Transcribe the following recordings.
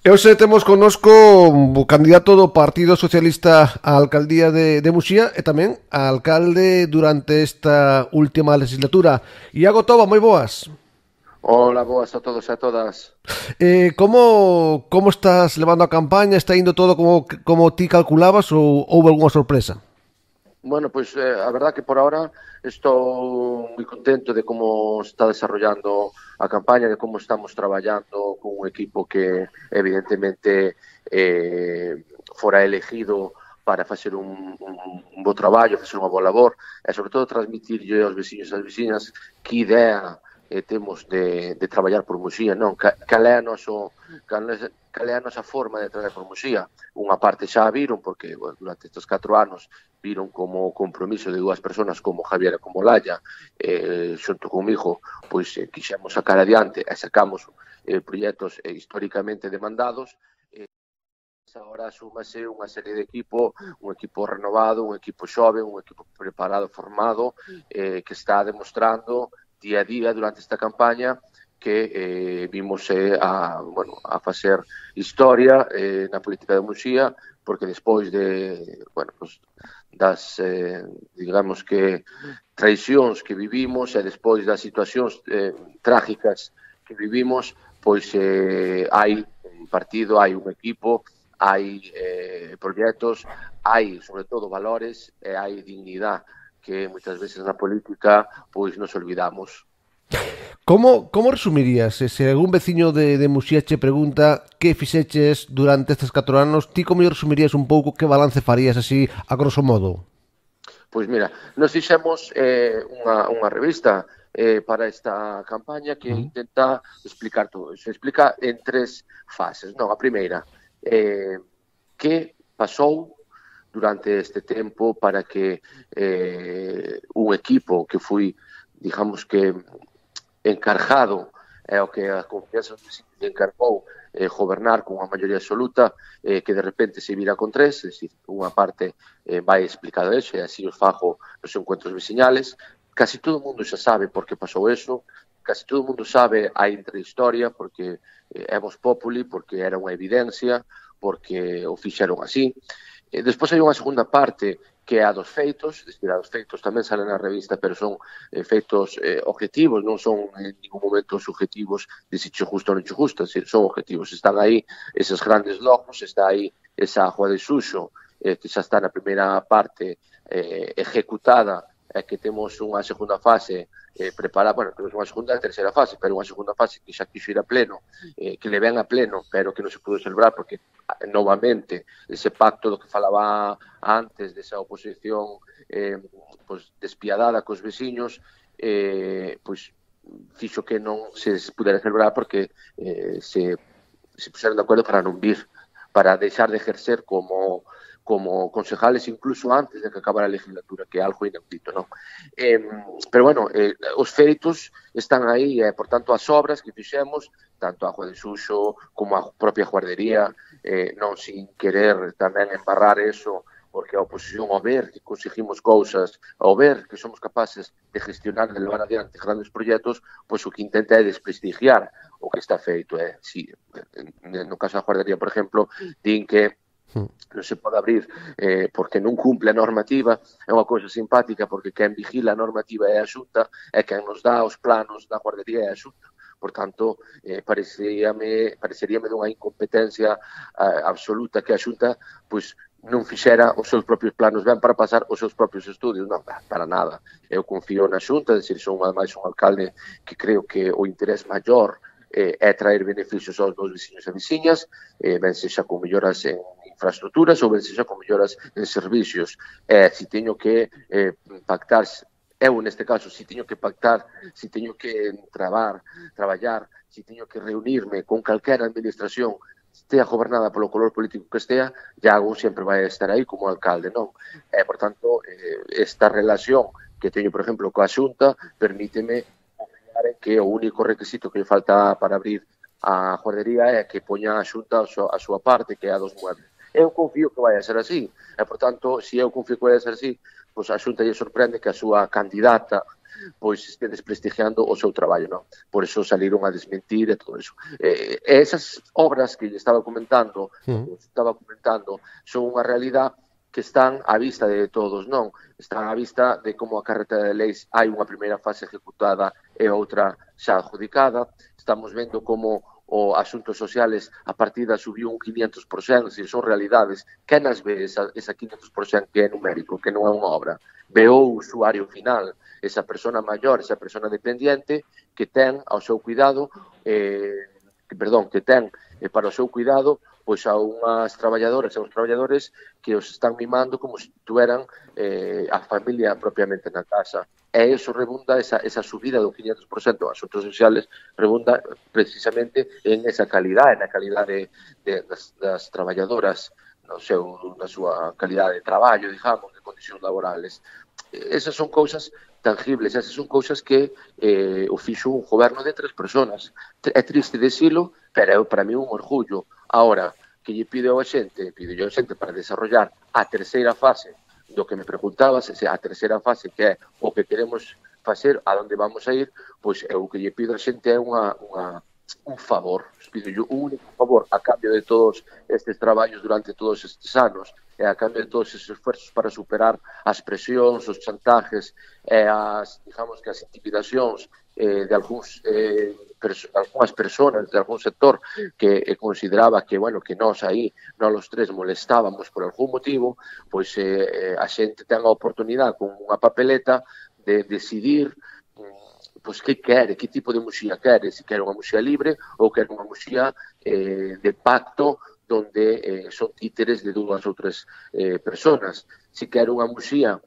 E hoxe temos connosco o candidato do Partido Socialista á alcaldía de Muxía e tamén a alcalde durante esta última legislatura. Iago Toba, moi boas. Hola, boas a todos e a todas. Como estás levando a campaña? Está indo todo como ti calculabas ou houve algunha sorpresa? Bueno, pois a verdad que por ahora estou moi contento de como está desarrollando a campaña, de como estamos traballando con un equipo que evidentemente fora elegido para facer un bo traballo, facer unha boa labor e sobre todo transmitirlle aos veciños e ás veciñas que idea temos de traballar por Muxía, non? Cal é a nosa forma de traballar por Muxía? Unha parte xa a viron, porque bueno, durante estes 4 anos viron como compromiso de dúas persoas como Javier e como Laia, xunto comigo, pois quixemos sacar adiante e sacamos proxectos históricamente demandados. Agora súmase unha serie de equipo, un equipo renovado, un equipo xoven, un equipo preparado, formado, que está demostrando día a día durante esta campaña que vimos a facer historia na política de Muxía, porque despois das digamos que traicións que vivimos e despois das situacións trágicas que vivimos, pois hai un partido, hai un equipo, hai proxectos, hai sobre todo valores e hai dignidade que moitas veces na política pois nos olvidamos. Como resumirías, se algún veciño de Muxía che pregunta que fixeches durante estes 4 anos, ti como resumirías un pouco, que balance farías así a grosso modo? Pois mira, nos fixemos unha revista para esta campaña que intenta explicar todo. Se explica en 3 fases. Non, a primeira, que pasou durante este tempo para que un equipo que fui, digamos que, encargado o que a confianza dos veciños encargou gobernar con unha maioría absoluta, que de repente se vira con 3, é dicir, unha parte vai explicado eso, e así os fago nos encuentros veciñales. Casi todo o mundo xa sabe por que pasou eso, casi todo o mundo sabe a intrahistoria, porque é Vox Populi, porque era unha evidencia, porque o fixeron así. Despois hai unha segunda parte que é a dos feitos, a dos feitos tamén salen na revista, pero son feitos objetivos, non son en ningún momento subjetivos de se che gusta ou non che gusta, son objetivos, están aí eses grandes logros, está aí esa Agua de Suxo, que xa está na primeira parte ejecutada, que temos unha segunda fase preparada, bueno, temos unha segunda e terceira fase, pero unha segunda fase que xa quixo ir a pleno, que le ven a pleno, pero que non se pudo celebrar porque novamente ese pacto do que falaba antes desa oposición pois despiadada cos veciños, pois fixo que non se pudera celebrar porque se puseron de acordo para non vir, para deixar de ejercer como concejales incluso antes de que acabara a legislatura, que é algo inaudito, non? Pero bueno, os feitos están aí, por tanto as obras que fixemos, tanto a Agua de Suxo como a propia guardería, non sin querer tamén embarrar eso, porque a oposición, ao ver que conseguimos cousas, ao ver que somos capaces de gestionar, de levar adiante grandes proxectos, pois o que intenta é desprestigiar o que está feito. No caso da guardería, por exemplo, din que non se pode abrir porque non cumple a normativa. É unha cousa simpática porque quen vigila a normativa é a Xunta e quen nos dá os planos da guardería é a Xunta. Por tanto, pareceríame dunha incompetencia absoluta que a Xunta pois non fixera os seus propios planos ben para pasar os seus propios estudios. Non, para nada. Eu confío na Xunta, é dicir, son ademais un alcalde que creo que o interés maior é traer beneficios aos meus veciños e veciñas, ben sexa con melloras en infraestructuras ou ben sexa con melloras en servicios. Se teño que pactar, eu neste caso, se teño que pactar, se teño que traballar, se teño que reunirme con calquera administración, estea gobernada polo color político que estea, Iago sempre vai estar aí como alcalde, non? Por tanto, esta relación que teño, por exemplo, coa Xunta, permíteme confiar en que o único requisito que lle falta para abrir a guardería é que poña a Xunta a súa parte, que é a dos muebles. Eu confío que vai a ser así, e, por tanto, se eu confío que vai a ser así, pois a Xunta lle sorprende que a súa candidata pois este desprestigiando o seu traballo, non? Por eso saliron a desmentir e todo eso. Esas obras que estaba comentando, son unha realidade que están á vista de todos, non? Están á vista de como a carretera de leis hai unha primeira fase ejecutada e outra xa adjudicada. Estamos vendo como o asuntos sociales a partida subiu un 500%, se son realidades. Quen as ve esa 500% que é numérico, que non é unha obra? Veo o usuario final, esa persona maior, esa persona dependiente que ten ao seu cuidado, que ten para o seu cuidado pois a unhas traballadoras e uns traballadores que os están mimando como se tuveran a familia propiamente na casa. E iso rebunda, esa subida do 500% a asuntos sociales, rebunda precisamente en esa calidade, na calidade das traballadoras, na súa calidade de traballo, digamos, de condicións laborales. Esas son cousas tangibles, esas son cousas que o fixo un goberno de 3 persoas. É triste decilo, pero para mí un orgullo. Ahora, que lle pido a xente para desarrollar a terceira fase do que me preguntabas, a terceira fase que é o que queremos facer, a onde vamos a ir, pois o que lle pido a xente é un favor, pido un único favor a cambio de todos estes traballos durante todos estes anos e a cambio de todos estes esfuerzos para superar as presións, os chantajes e digamos que as intimidacións de algúns algunhas persoas de algún sector que consideraba que, bueno, que nós aí, nós os tres molestábamos por algún motivo, pois a xente ten a oportunidade con unha papeleta de decidir pois que quere, que tipo de muxía quere, se quere unha muxía libre ou quere unha muxía de pacto donde son títeres de dúas ou tres personas. Se quere unha muxía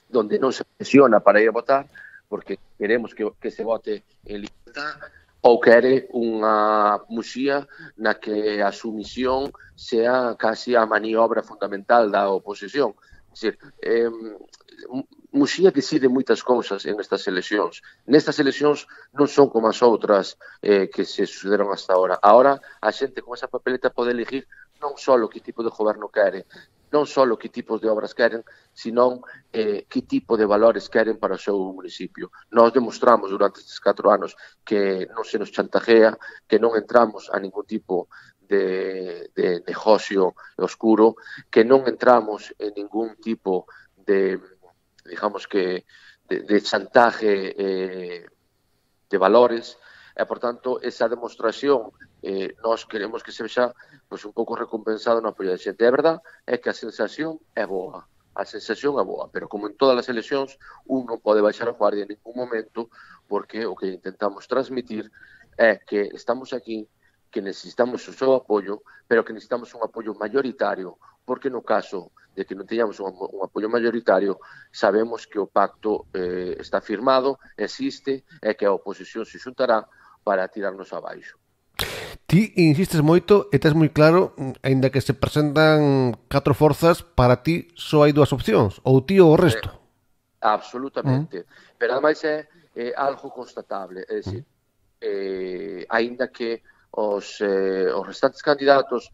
donde non se presiona para ir a votar, porque queremos que se vote en libertad, ou quere unha muxía na que a sumisión sea casi a maniobra fundamental da oposición. É dicir, Muxía decide moitas cousas en estas eleccións. Nestas eleccións non son como as outras que se sucederon hasta ahora. Ahora a xente con esa papeleta pode elegir non só que tipo de goberno quere, non só que tipos de obras queren, senón que tipo de valores queren para o seu municipio. Nós demostramos durante estes 4 anos que non se nos chantajea, que non entramos a ningún tipo de negocio oscuro, que non entramos en ningún tipo de, digamos que, de chantaje de valores, e, por tanto, esa demostración nós queremos que sexa pois, un pouco recompensado no apoio da xente. A verdade é que a sensación é boa, pero como en todas as eleccións, un non pode baixar a guardia en ningún momento, porque o que intentamos transmitir é que estamos aquí, que necesitamos o seu apoio, pero que necesitamos un apoio mayoritario, porque no caso de que non teñamos un apoio mayoritario, sabemos que o pacto está firmado, existe, e que a oposición se xuntará para tirarnos abaixo. Ti insistes moito e tes moi claro, aínda que se presentan 4 forzas, para ti só hai 2 opcións, ou ti ou o resto. Absolutamente. Pero ademais é algo constatable, é dicir, aínda que os restantes candidatos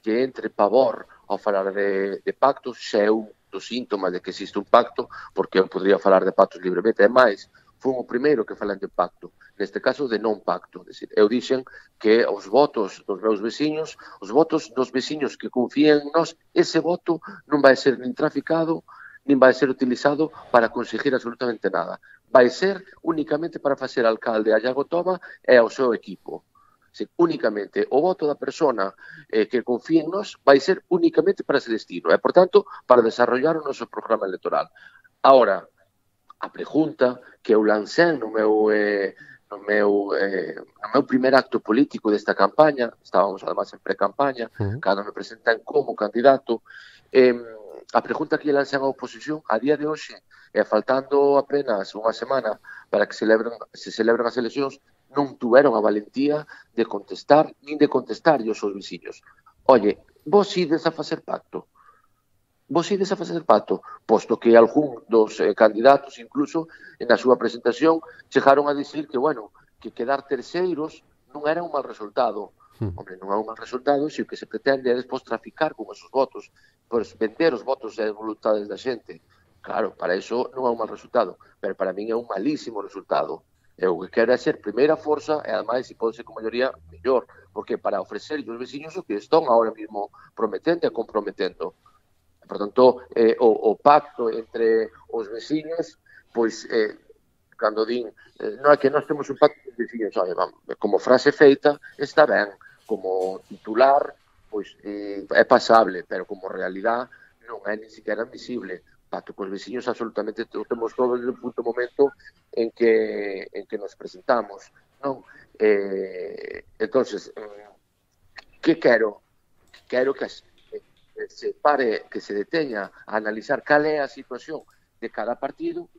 que entre pavor ao falar de pactos, xa é un dos síntomas de que existe un pacto, porque eu podría falar de pactos libremente, e máis, foi o primeiro que falan de pacto, neste caso de non pacto. Decir, eu dixen que os votos dos meus veciños, os votos dos veciños que confían en nós, ese voto non vai ser nin traficado, nin vai ser utilizado para conseguir absolutamente nada. Vai ser únicamente para facer alcalde a Iago Toma e ao seu equipo. Sí, únicamente o voto da persona que confía en nós vai ser únicamente para ese destino e, por tanto, para desarrollar o noso programa electoral. Ahora, a pregunta que eu lancei no meu primer acto político desta campaña, estábamos además en pre-campaña, cando me presentan como candidato, a pregunta que lancei á oposición a día de hoxe, faltando apenas unha semana para que se celebren as eleccións, non tuveron a valentía de contestar, nin de contestar aos seus veciños. Oye, vos ides a facer pacto? Posto que algún dos candidatos, incluso, na súa presentación, chegaron a dicir que, bueno, que quedar terceiros non era un mal resultado. Hombre, non é un mal resultado se o que se pretende é despois traficar con esos votos, pois vender os votos e as voluntades da xente. Claro, para iso non é un mal resultado, pero para min é un malísimo resultado. E o que quero é ser primeira forza e, ademais, se pode ser con maioría, mellor, porque para ofrecer os veciños o que están ahora mismo prometendo e comprometendo. Por tanto, o pacto entre os veciños, pois, cando din, non é que nós temos un pacto con os veciños, como frase feita está ben, como titular, pois é pasable, pero como realidad non é ni siquiera admisible. Pacto cos veciños absolutamente temos todo desde o punto momento en que nos presentamos, non? Entonces, que quero? Quero que se pare, que se deteña a analizar cal é a situación de cada partido,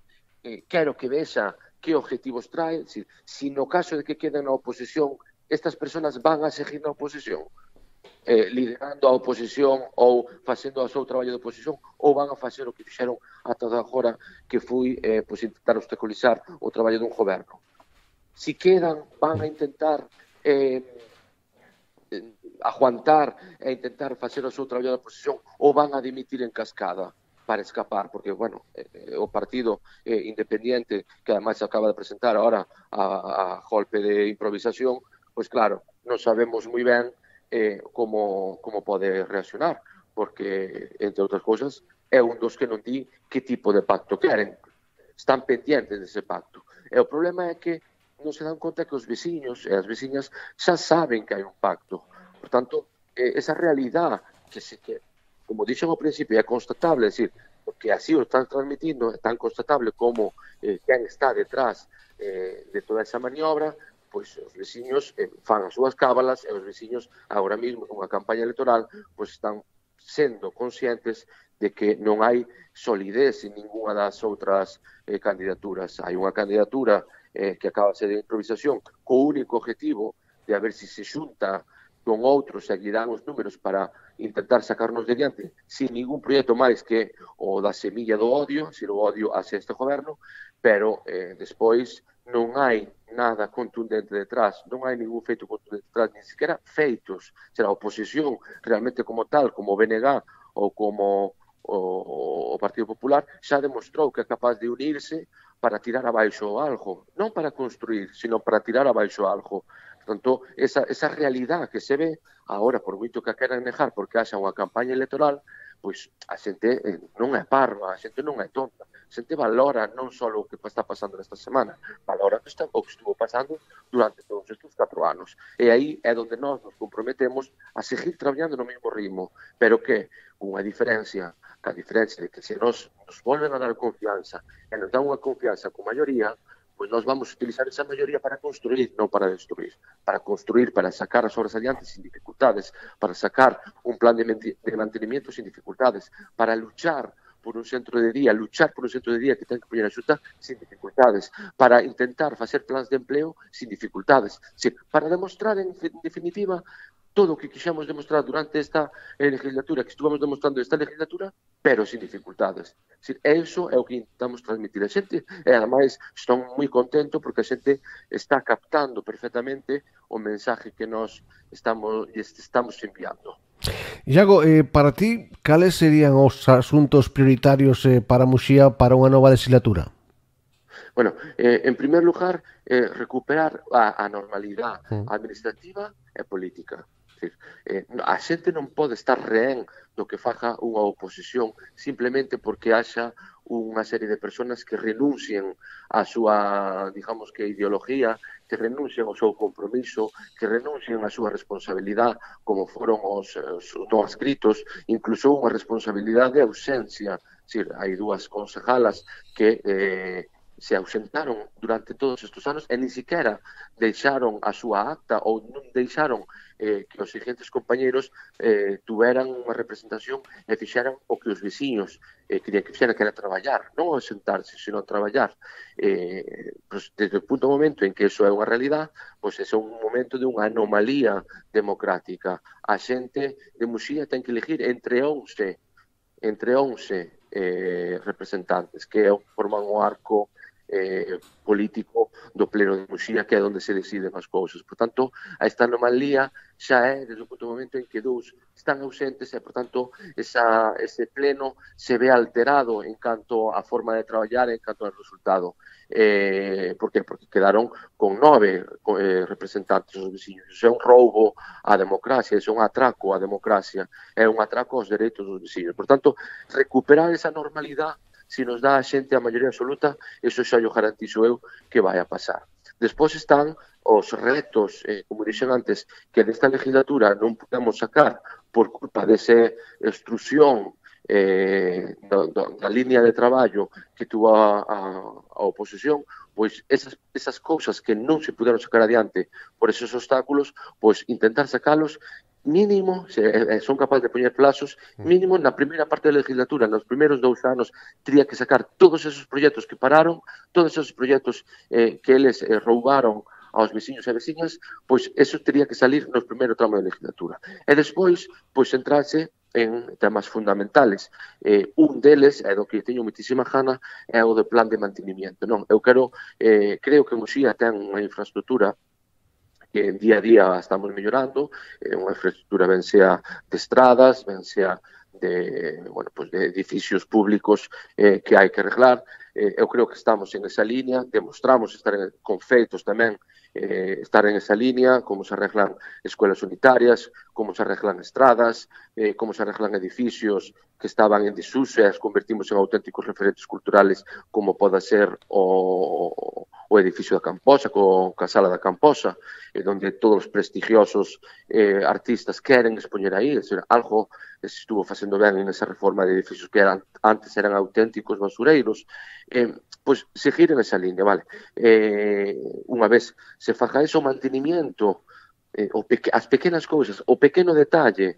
quero que vexa que objetivos trae, si no caso de que queden na oposición, estas persoas van a seguir na oposición, liderando a oposición ou facendo o seu traballo de oposición, ou van a facer o que fixeron ata agora, que foi pois, intentar obstaculizar o traballo dun goberno. Si quedan, van a intentar aguantar e intentar facer o seu traballo de oposición, ou van a dimitir en cascada para escapar, porque, bueno, o partido independiente, que además se acaba de presentar ahora a golpe de improvisación, pois claro, non sabemos moi ben como pode reaccionar, porque, entre outras cousas, é un dos que non di que tipo de pacto queren. Están pendientes dese pacto. E o problema é que non se dan conta que os veciños e as veciñas xa saben que hai un pacto. Por tanto, esa realidad que como dixen ao principio, é constatable, é dicir, porque así o están transmitindo, é tan constatable como quen está detrás de toda esa maniobra, pois os veciños fan as súas cábalas e os veciños agora mesmo nunha campaña electoral pois están sendo conscientes de que non hai solidez en ninguna das outras candidaturas. Hai unha candidatura que acaba de ser de improvisación co único objetivo de a ver se se xunta con outros e guirán os números para intentar sacarnos de diante sin ningún proxecto máis que o da semilla do odio, se o odio hacia este goberno, pero despois non hai nada contundente detrás, non hai ningún feito contundente detrás, ni siquiera feitos. Será a oposición realmente como tal, como o BNG ou como o Partido Popular, xa demostrou que é capaz de unirse para tirar abaixo algo, non para construir, sino para tirar abaixo algo. Portanto, esa realidad que se ve agora, por moito que a queran negar porque haxa unha campaña electoral, pois a xente non é parva, a xente non é tonta, a xente valora non só o que está pasando nesta semana, valora o que estuvo pasando durante todos estes 4 anos. E aí é onde nós nos comprometemos a seguir traballando no mesmo ritmo, pero que unha diferencia, a diferencia de que se nos volven a dar confianza e nos dan unha confianza con maioría, pois nós vamos utilizar esa maioría para construir, non para destruir. Para construir, para sacar as obras adiante sin dificultades, para sacar un plan de mantenimiento sin dificultades, para luchar por un centro de día, luchar por un centro de día que ten que poñer a xusta sin dificultades, para intentar facer plans de empleo sin dificultades, para demostrar, en definitiva, todo o que quixemos demostrar durante esta legislatura, que estuvamos demostrando esta legislatura, pero sin dificultades. Eso é o que intentamos transmitir a xente, e ademais estou moi contento porque a xente está captando perfectamente o mensaje que nós estamos enviando. Iago, para ti, cales serían os asuntos prioritarios para Muxía para unha nova legislatura? Bueno, en primer lugar, recuperar a normalidade administrativa e política. A xente non pode estar rehén do que faga unha oposición simplemente porque haxa unha serie de persoas que renuncien a súa, digamos que, ideología, que renuncien ao seu compromiso, que renuncien a súa responsabilidade, como foron os non escritos, incluso unha responsabilidade de ausencia. Hai dúas concejalas que se ausentaron durante todos estes anos e ni siquiera deixaron a súa acta ou non deixaron que os seguintes compañeros tuveran unha representación e fixeran o que os veciños querían que fixeran, que era traballar, non ausentarse, sino traballar. Pues, desde o punto momento en que eso é unha realidad, pues é un momento de unha anomalía democrática. A xente de Muxía ten que elegir entre 11 representantes que forman o arco político do pleno de Muxía, que é onde se deciden as cousas. Por tanto, a esta anomalía xa é desde o punto do momento en que dous están ausentes e, por tanto, ese pleno se ve alterado en canto a forma de traballar, en canto ao resultado. Por qué? Porque quedaron con 9 representantes dos veciños. Iso é un roubo á democracia, iso é un atraco á democracia, é un atraco aos dereitos dos veciños. Por tanto, recuperar esa normalidade, se nos dá a xente a maioría absoluta, eso xa yo garantizo eu que vai a pasar. Despois están os retos, como dixen antes, que desta legislatura non podemos sacar por culpa desa extrusión da línea de traballo que tuvo a oposición, pois esas cousas que non se puderon sacar adiante por esos obstáculos, pois intentar sacalos mínimo, se son capaces de poñer plazos, mínimo na primeira parte da legislatura, nos primeiros 2 anos, teria que sacar todos esos proxectos que pararon, todos esos proxectos que eles roubaron aos veciños e veciñas, pois eso teria que salir no primeiro tramo da legislatura. E despois, pois centrarse en temas fundamentales. Un deles, é do que teño moitísima gana, é o do plan de mantenimiento. Non, eu creo que Muxía ten unha infraestructura que día a día estamos mellorando, unha infraestructura ben sea de estradas, ben sea de edificios públicos que hai que arreglar. Eu creo que estamos en esa línea, demostramos estar con feitos tamén, estar en esa línea, como se arreglan escuelas unitarias, como se arreglan estradas, como se arreglan edificios que estaban en desuso e as convertimos en auténticos referentes culturales, como pode ser o edificio da Camposa, a sala da Camposa, donde todos os prestigiosos artistas queren expoñer aí, é dizer, algo que se estuvo facendo ben nesa reforma de edificios que antes eran auténticos basureiros, pois seguir en esa línea, vale? Unha vez se faga ese mantenimiento, as pequenas cousas, o pequeno detalle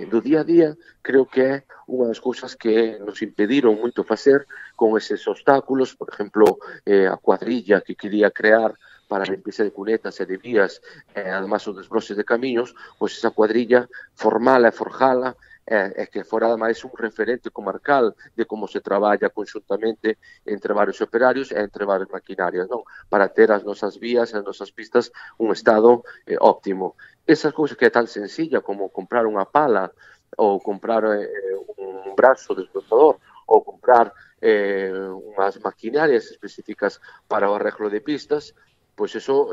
do día a día, creo que é unha das cousas que nos impediron moito facer con eses obstáculos, por exemplo, a cuadrilla que quería crear para a limpieza de cunetas e de vías, además os desbroses de camiños, pois esa cuadrilla formala e forjala, e que fora ademais un referente comarcal de como se traballa conxuntamente entre varios operarios e entre varias maquinarias, non? Para ter as nosas vías e as nosas pistas un estado óptimo. Esas cousas que é tan sencilla como comprar unha pala ou comprar un brazo desbrozador ou comprar unhas maquinarias específicas para o arreglo de pistas, pois eso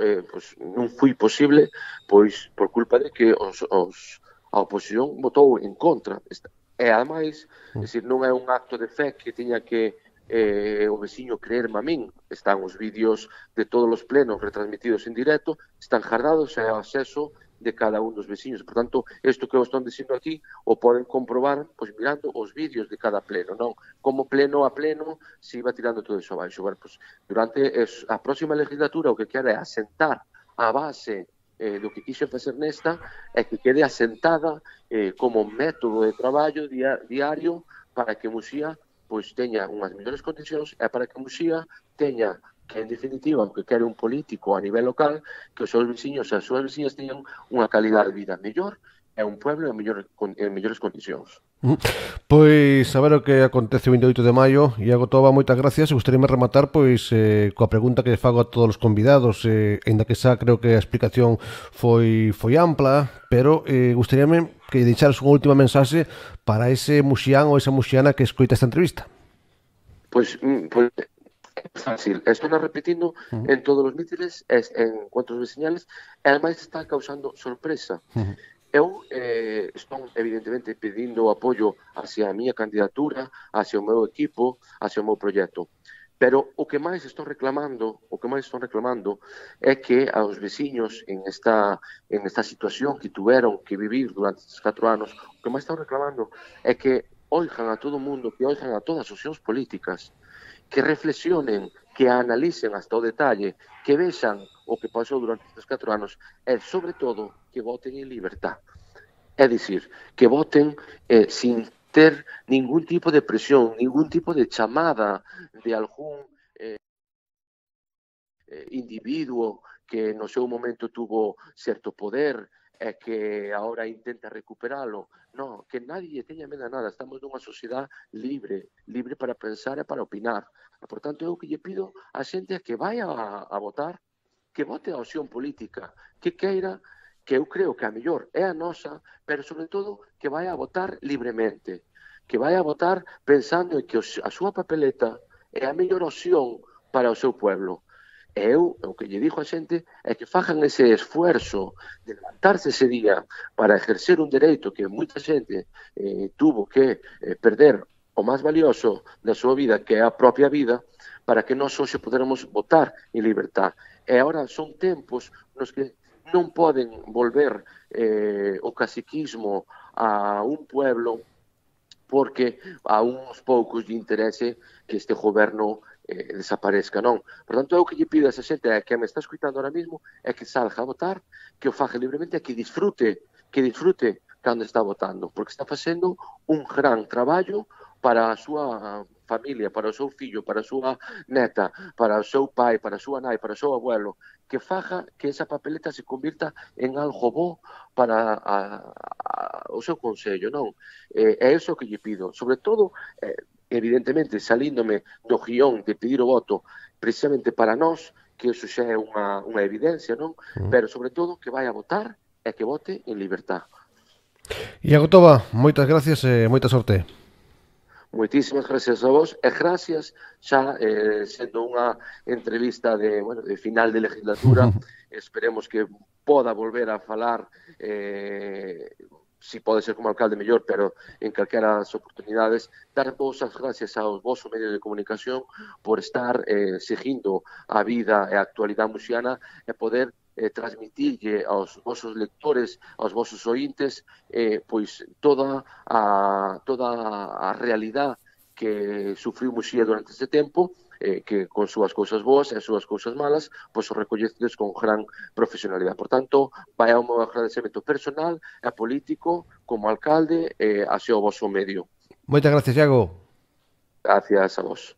non foi posible pois por culpa de que a oposición votou en contra. E, ademais, non é un acto de fe que tiña que o veciño creerme a min. Están os vídeos de todos os plenos retransmitidos en directo, están jardados e ao acceso de cada un dos veciños. Por tanto, isto que eu estou dicindo aquí o poden comprobar pois mirando os vídeos de cada pleno, non? Como pleno a pleno se iba tirando todo iso abaixo. Bueno, pois, durante a próxima legislatura o que quere é asentar a base do que quixo facer nesta é que quede asentada como método de traballo diario para que Muxía pois teña unhas mellores condicións e para que Muxía teña que, en definitiva, o que quere un político a nivel local, que os seus veciños e as súas veciñas teñan unha calidad de vida mellor e un pueblo en mellores condicións. Pois a ver o que acontece o 28 de maio. Iago Toba, moitas gracias. Gostaríame rematar pois coa pregunta que fago a todos os convidados, ainda que xa creo que a explicación foi ampla, pero gostaríame que deixaras unha última mensaxe para ese muxián ou esa muxiana que escoita esta entrevista. Pois é fácil, estou repetindo en todos os mítines, en encontros veciñales, e ademais está causando sorpresa. Eu estou, evidentemente, pedindo o apoio hacia a miña candidatura, hacia o meu equipo, hacia o meu proxecto. Pero o que máis estón reclamando é que aos veciños en esta situación que tuveron que vivir durante estes 4 anos, o que máis están reclamando é que oigan a todo o mundo, que oigan a todas as opcións políticas, que reflexionen, que analicen hasta o detalle, que vexan o que pasou durante estes 4 anos e, sobre todo, que voten en libertad. É dicir, que voten sin ter ningún tipo de presión, ningún tipo de chamada de algún individuo que no seu momento tuvo certo poder e que agora intenta recuperalo. Non, que nadie teña medo a nada. Estamos nunha sociedade libre, libre para pensar e para opinar. E, por tanto, eu que lle pido a xente que vai a votar, que vote a opción política, que queira, que eu creo que a mellor é a nosa, pero sobre todo que vai a votar libremente, que vai a votar pensando en que a súa papeleta é a mellor opción para o seu pueblo. E eu, o que lle digo a xente é que fajan ese esfuerzo de levantarse ese día para ejercer un dereito que moita xente tuvo que perder o máis valioso da súa vida, que é a propia vida, para que nós hoxe podermos votar en libertad. E agora son tempos nos que non poden volver o caciquismo a un pueblo porque a uns poucos lle interese que este goberno desaparezca, non. Por tanto, eu que lle pido a esa xente que me está escuitando ahora mismo é que salga a votar, que o faga libremente e que disfrute cando está votando, porque está facendo un gran traballo para a súa familia, para o seu fillo, para a súa neta, para o seu pai, para a súa nai, para o seu abuelo, que faga que esa papeleta se convirta en algo bo para o seu consello, non? É iso que lle pido. Sobre todo, evidentemente, salíndome do guión de pedir o voto precisamente para nós, que iso xa é unha evidencia, non? Pero, sobre todo, que vai a votar e que vote en libertad. Iago Toba, moitas gracias e moita sorte. Moitísimas gracias a vos e gracias xa sendo unha entrevista de final de legislatura. Esperemos que poda volver a falar si pode ser como alcalde mellor, pero en calquera das oportunidades, dar vos as gracias aos vosso medio de comunicación por estar seguindo a vida e a actualidade muxiana e poder transmitirlle aos vosos lectores, aos vosos ointes, pois toda a realidade que sufriu Muxía durante este tempo, que con súas cousas boas e as súas cousas malas, pois o recollecedes con gran profesionalidade. Por tanto, vai ao meu agradecemento personal e político como alcalde hacia o voso medio. Moitas gracias, Iago. Gracias a vos.